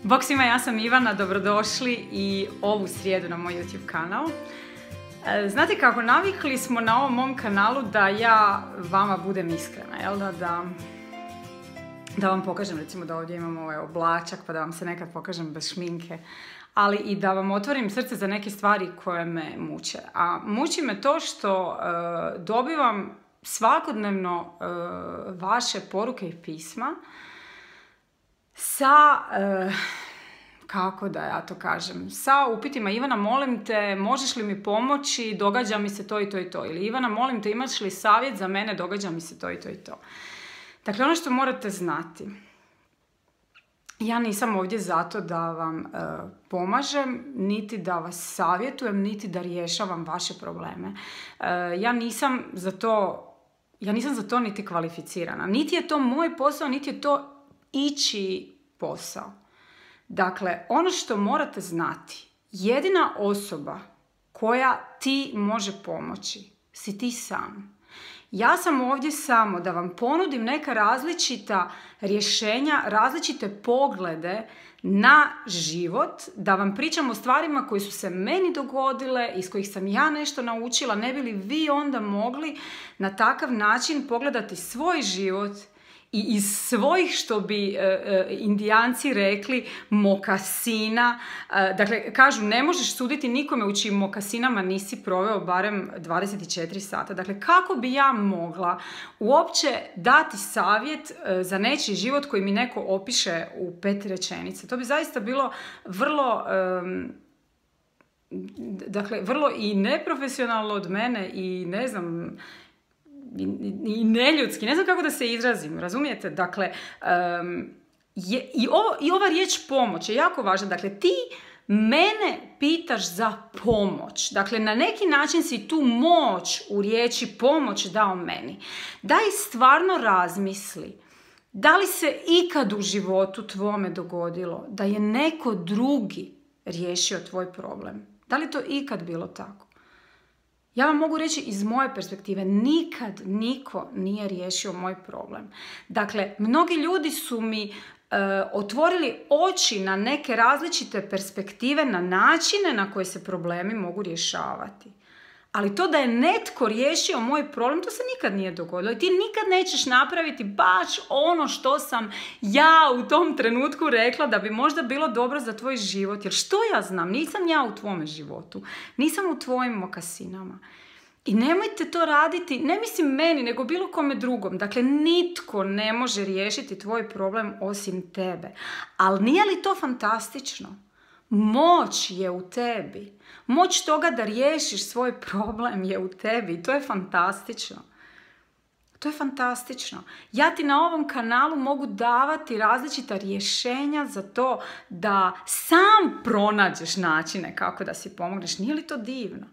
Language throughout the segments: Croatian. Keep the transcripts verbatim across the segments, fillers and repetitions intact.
Bog svima, ja sam Ivana, dobrodošli i ovu srijedu na moj YouTube kanal. Znate kako, navikli smo na ovom mom kanalu da ja vama budem iskrena, jel da, da, da vam pokažem, recimo da ovdje imam ovaj oblačak pa da vam se nekad pokažem bez šminke, ali i da vam otvorim srce za neke stvari koje me muče. A muči me to što uh, dobivam svakodnevno uh, vaše poruke i pisma sa, uh, kako da ja to kažem, sa upitima: Ivana, molim te, možeš li mi pomoći, događa mi se to i to i to. Ili Ivana, molim te, imaš li savjet za mene, događa mi se to i to i to. Dakle, ono što morate znati, ja nisam ovdje zato da vam uh, pomažem, niti da vas savjetujem, niti da rješavam vaše probleme. Uh, ja nisam za to, ja nisam za to niti kvalificirana. Niti je to moj posao, niti je to ići posao. Dakle, ono što morate znati, jedina osoba koja ti može pomoći si ti sam. Ja sam ovdje samo da vam ponudim neka različita rješenja, različite poglede na život, da vam pričam o stvarima koje su se meni dogodile, iz kojih sam ja nešto naučila, ne bi li vi onda mogli na takav način pogledati svoj život i iz svojih, što bi e, e, Indijanci rekli, mokasina. E, dakle, kažu, ne možeš suditi nikome u čijim mokasinama nisi proveo barem dvadeset četiri sata. Dakle, kako bi ja mogla uopće dati savjet e, za nečiji život koji mi neko opiše u pet rečenica? To bi zaista bilo vrlo... E, dakle, vrlo i neprofesionalno od mene i ne znam... i neljudski, ne znam kako da se izrazim, razumijete? Dakle, um, je, i, ovo, i ova riječ pomoć je jako važna. Dakle, ti mene pitaš za pomoć. Dakle, na neki način si tu moć u riječi pomoć dao meni. Daj stvarno razmisli, da li se ikad u životu tvome dogodilo da je neko drugi riješio tvoj problem? Da li to ikad bilo tako? Ja vam mogu reći iz moje perspektive, nikad niko nije riješio moj problem. Dakle, mnogi ljudi su mi e, otvorili oči na neke različite perspektive, na načine na koje se problemi mogu rješavati. Ali to da je netko riješio moj problem, to se nikad nije dogodilo. I ti nikad nećeš napraviti baš ono što sam ja u tom trenutku rekla da bi možda bilo dobro za tvoj život. Jer što ja znam? Nisam ja u tvome životu. Nisam u tvojim mokasinama. I nemojte to raditi, ne mislim meni, nego bilo kome drugom. Dakle, nitko ne može riješiti tvoj problem osim tebe. Ali nije li to fantastično? Moć je u tebi. Moć toga da riješiš svoj problem je u tebi i to je fantastično. To je fantastično. Ja ti na ovom kanalu mogu davati različita rješenja za to da sam pronađeš načine kako da si pomogneš. Nije li to divno?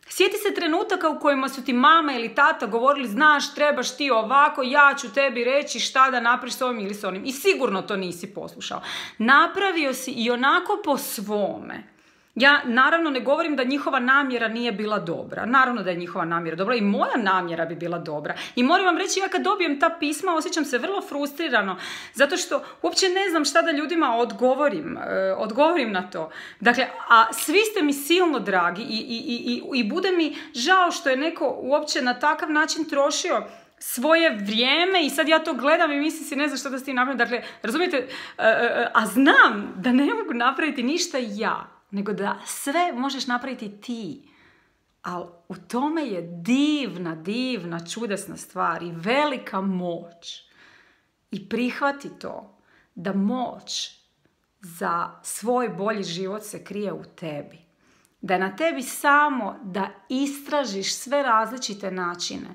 Sjeti se trenutaka u kojima su ti mama ili tata govorili: znaš, trebaš ti ovako, ja ću tebi reći šta da napraviš s ovim ili s onim. I sigurno to nisi poslušao. Napravio si i onako po svome. Ja naravno ne govorim da njihova namjera nije bila dobra. Naravno da je njihova namjera dobra i moja namjera bi bila dobra. I moram vam reći, ja kad dobijem ta pisma osjećam se vrlo frustrirano, zato što uopće ne znam šta da ljudima odgovorim, e, odgovorim na to. Dakle, a svi ste mi silno dragi i, i, i, i bude mi žao što je neko uopće na takav način trošio svoje vrijeme i sad ja to gledam i mislim si ne znam što da s tim napravim. Dakle, razumijete, e, e, a znam da ne mogu napraviti ništa ja, nego da sve možeš napraviti ti. Ali u tome je divna, divna, čudesna stvar i velika moć. I prihvati to da moć za svoj bolji život se krije u tebi. Da je na tebi samo da istražiš sve različite načine.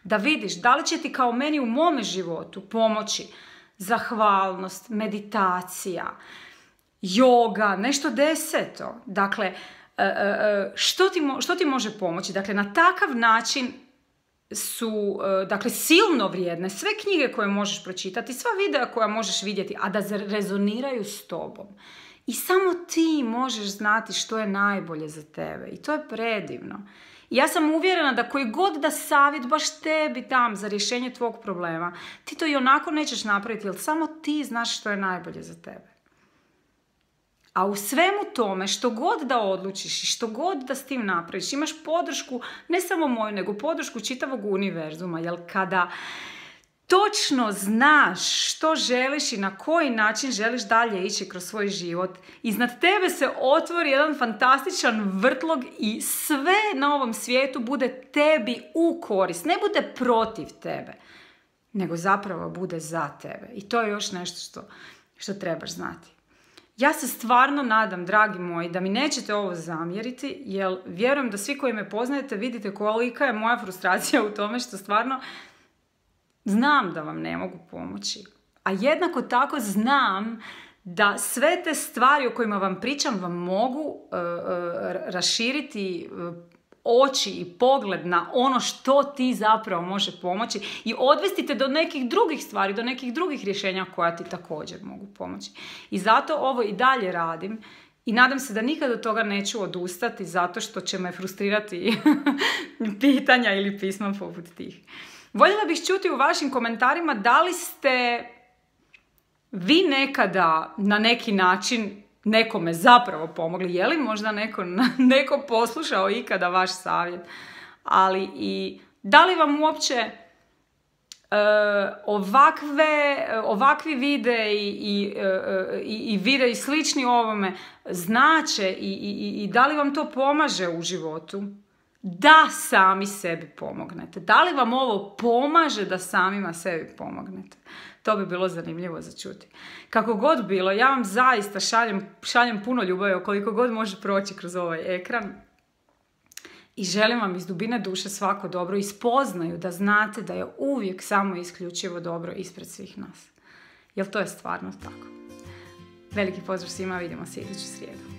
Da vidiš da li će ti kao meni u mome životu pomoći zahvalnost, meditacija, joga, nešto deseto. Dakle, što ti, što ti može pomoći? Dakle, na takav način su, dakle, silno vrijedne sve knjige koje možeš pročitati, sva videa koja možeš vidjeti, a da rezoniraju s tobom. I samo ti možeš znati što je najbolje za tebe. I to je predivno. I ja sam uvjerena da koji god da savjet baš tebi dam za rješenje tvog problema, ti to i onako nećeš napraviti, jer samo ti znaš što je najbolje za tebe. A u svemu tome, što god da odlučiš i što god da s tim napraviš, imaš podršku, ne samo moju, nego podršku čitavog univerzuma, jer kada točno znaš što želiš i na koji način želiš dalje ići kroz svoj život, iznad tebe se otvori jedan fantastičan vrtlog i sve na ovom svijetu bude tebi u korist. Ne bude protiv tebe, nego zapravo bude za tebe. I to je još nešto što, što trebaš znati. Ja se stvarno nadam, dragi moji, da mi nećete ovo zamjeriti, jer vjerujem da svi koji me poznajete vidite kolika je moja frustracija u tome što stvarno znam da vam ne mogu pomoći. A jednako tako znam da sve te stvari o kojima vam pričam vam mogu uh, uh, raširiti uh, oči i pogled na ono što ti zapravo može pomoći i odvesti te do nekih drugih stvari, do nekih drugih rješenja koja ti također mogu pomoći. I zato ovo i dalje radim i nadam se da nikad od toga neću odustati zato što će me frustrirati pitanja ili pisma poput tih. Voljela bih čuti u vašim komentarima da li ste vi nekada na neki način nekome zapravo pomogli. Je li možda neko, neko poslušao ikada vaš savjet? Ali i da li vam uopće uh, ovakve, ovakvi videi i, i, uh, i, i videi slični ovome znače i, i, i da li vam to pomaže u životu? Da sami sebi pomognete. Da li vam ovo pomaže da samima sebi pomognete? To bi bilo zanimljivo za čuti. Kako god bilo, ja vam zaista šaljem, šaljem puno ljubavi koliko god može proći kroz ovaj ekran. I želim vam iz dubine duše svako dobro i spoznaju da znate da je uvijek samo isključivo dobro ispred svih nas. Jer to je stvarno tako. Veliki pozdrav svima, vidimo se iduću srijedu.